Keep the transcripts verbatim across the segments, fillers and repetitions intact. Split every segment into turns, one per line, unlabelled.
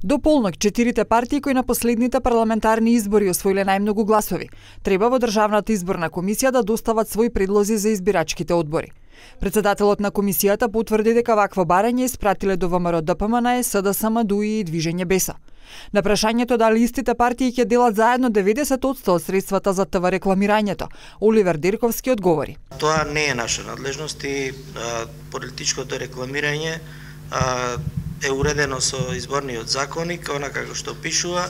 До полнок четирите партии кои на последните парламентарни избори освоиле најмногу гласови, треба во Државната изборна комисија да достават своји предлози за избирачките одбори. Председателот на комисијата потврди дека вакво барање испратиле до ВМРО Д П М Н, С Д С М, Д У И и Движење Беса. На прашањето дали истите партии ќе делат заедно деветдесет одсто од средствата за ТВ рекламирањето, Оливер Дирковски одговори:
Тоа не е наша надлежност и а, политичкото рекламирање а, е уредено со изборниот законник, онака како што пишува,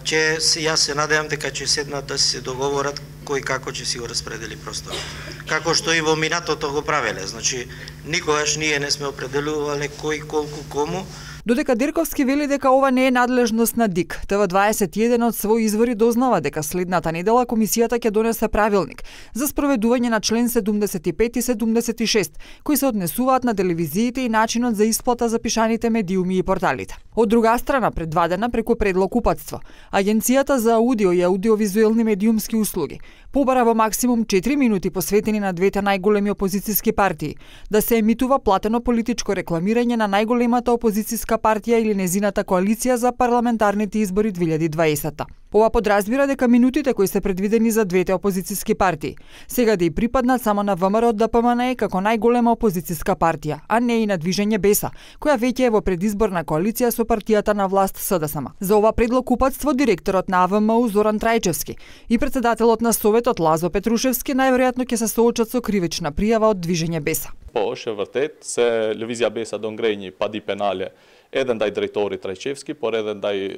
че јас се надевам дека ќе седнат да се договорат кој како ќе си го распредели просторот. Како што и во минатото го правеле, значи никогаш ние не сме определувале кој колку кому.
Додека Дирковски вели дека ова не е надлежност на Д И К, Т В дваесет и еден од своји извори дознава дека следната недела комисијата ќе донесе правилник за спроведување на член седумдесет и пет и седумдесет и шест, кои се однесуваат на телевизиите и начинот за исплата за пишаните медиуми и порталите. Од друга страна, пред два дена преку предлог упатство, Агенцијата за аудио и аудиовизуелни медиумски услуги побара во максимум четири минути посветени на двете најголеми опозицијски партии да се емитува платено политичко рекламирање на најголемата опозицијска партија или незината коалиција за парламентарните избори две илјади и дваесета. Ова подразбира дека минутите кои се предвидени за двете опозицијски партии сега да и припаднат само на В М R Д П М Н како најголема опозицијска партија, а не и на Движење Беса, која веќе е во предизборна коалиција со партијата на власт С Д С М. За ова предлог упатство директорот на А В М У Зоран Трајчевски и председателот на Советот Лазо Петрушевски најверојатно ќе се соочат со кривична пријава од Движење Беса.
Po, është e vërtet se Lëvizja Besa do ngrej një padi penale edhe ndaj drejtorit Trajqevski, por edhe ndaj e,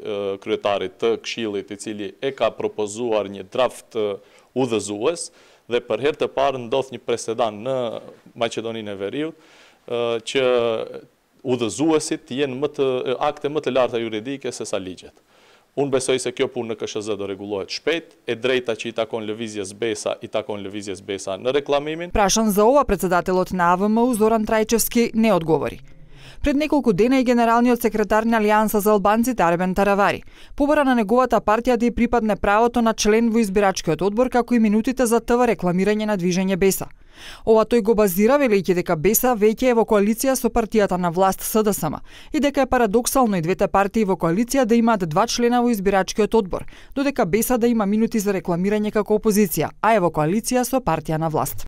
kryetarit të Këshillit, i cili e ka propozuar një draft e, udhëzues, dhe për herë të parë ndodh një presedan në Maqedoninë e Veriut, e, që udhëzuesit jenë më të akte më të larta juridike se sa ligjet. Unë besoj se kjo punë në K S Z do rregullohet shpejt, e drejta që i takon Lëvizjes Besa, i takon Lëvizjes Besa në reklamimin.
Прашан за ова, председателот на А В М У Зоран Трајчевски не одговори. Пред неколку дена и генералниот секретар на Алијанса за албанците Арбен Таравари побара на неговата партија да ја припадне правото на член во избирачкиот одбор, како и минутите за ТВ рекламирање на Движење Беса. Ова тој го базира велејќи дека Беса веќе е во коалиција со партијата на власт С Д С М и дека е парадоксално и двете партии во коалиција да имаат два члена во избирачкиот одбор, додека Беса да има минути за рекламирање како опозиција, а е во коалиција со партија на власт.